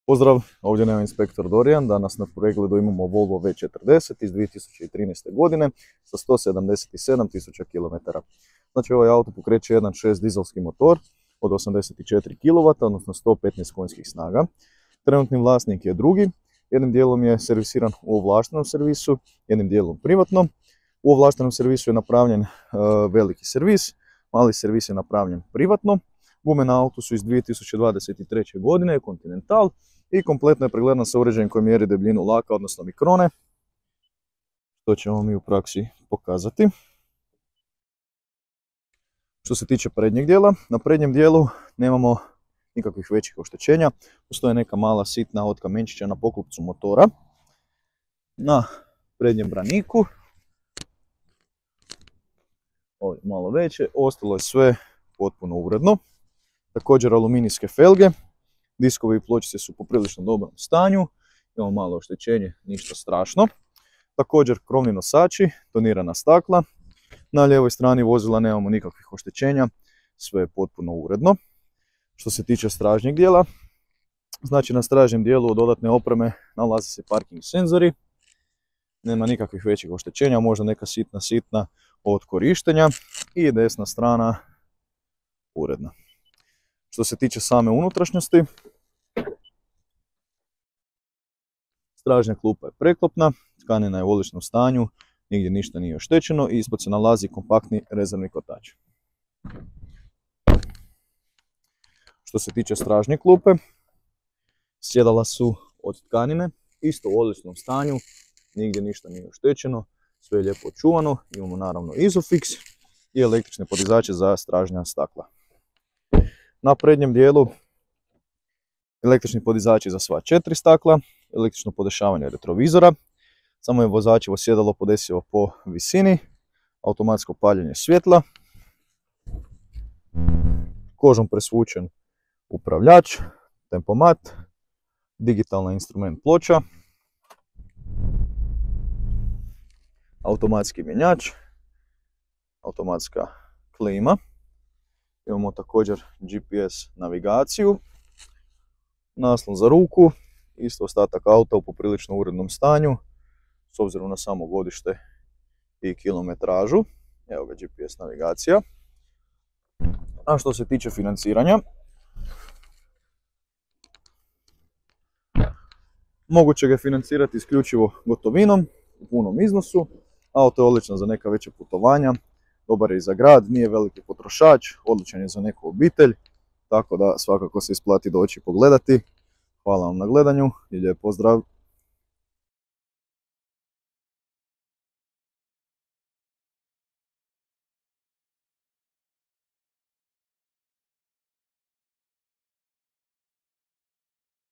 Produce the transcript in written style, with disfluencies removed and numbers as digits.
Pozdrav, ovdje nam je inspektor Dorijan. Danas na pregledu imamo Volvo V40 iz 2013. godine sa 177.000 km. Znači ovaj auto pokreće 1.6 dizelski motor od 84 kW, odnosno 115 konjskih snaga. Trenutni vlasnik je drugi, jednim dijelom je servisiran u ovlaštenom servisu, jednim dijelom privatno. U ovlaštenom servisu je napravljen veliki servis, mali servis je napravljen privatno. Gume na autu su iz 2023. godine, Continental, i kompletno je pregledana sa uređajem koji mjeri debljinu laka, odnosno mikrone. To ćemo mi u praksi pokazati. Što se tiče prednjeg dijela, na prednjem dijelu nemamo nikakvih većih oštećenja. Postoje neka mala sitna kamenčića na poklopcu motora. Na prednjem braniku, ovdje malo veće, ostalo je sve potpuno uredno. Također aluminijske felge, diskovi i pločice su u poprilično dobrom stanju, imamo malo oštećenje, ništa strašno. Također krovni nosači, tonirana stakla, na lijevoj strani vozila nemamo nikakvih oštećenja, sve je potpuno uredno. Što se tiče stražnjeg dijela, znači na stražnjem dijelu od dodatne opreme nalaze se parking senzori, nema nikakvih većih oštećenja, možda neka sitna od korištenja, i desna strana uredna. Što se tiče same unutrašnjosti, stražnja klupa je preklopna, tkanina je u odličnom stanju, nigdje ništa nije oštećeno i ispod se nalazi kompaktni rezervni kotač. Što se tiče stražnje klupe, sjedala su od tkanine, isto u odličnom stanju, nigdje ništa nije oštećeno, sve je lijepo očuvano, imamo naravno Isofix i električne podizače za stražnja stakla. Na prednjem dijelu električni podizači za sva 4 stakla, električno podešavanje retrovizora, samo je vozačevo sjedalo podesivo po visini, automatsko paljenje svjetla, kožom presvučen upravljač, tempomat, digitalna instrument ploča, automatski mjenjač, automatska klima. Imamo također GPS navigaciju, naslon za ruku, isto ostatak auta u poprilično urednom stanju, s obzirom na samo godište i kilometražu. Evo ga GPS navigacija. A što se tiče financiranja, moguće ga financirati isključivo gotovinom u punom iznosu. Auto je odlično za neka veća putovanja, dobar je i za grad, nije veliki potrošač, odličan je za neku obitelj, tako da svakako se isplati doći pogledati. Hvala vam na gledanju i lijep pozdrav!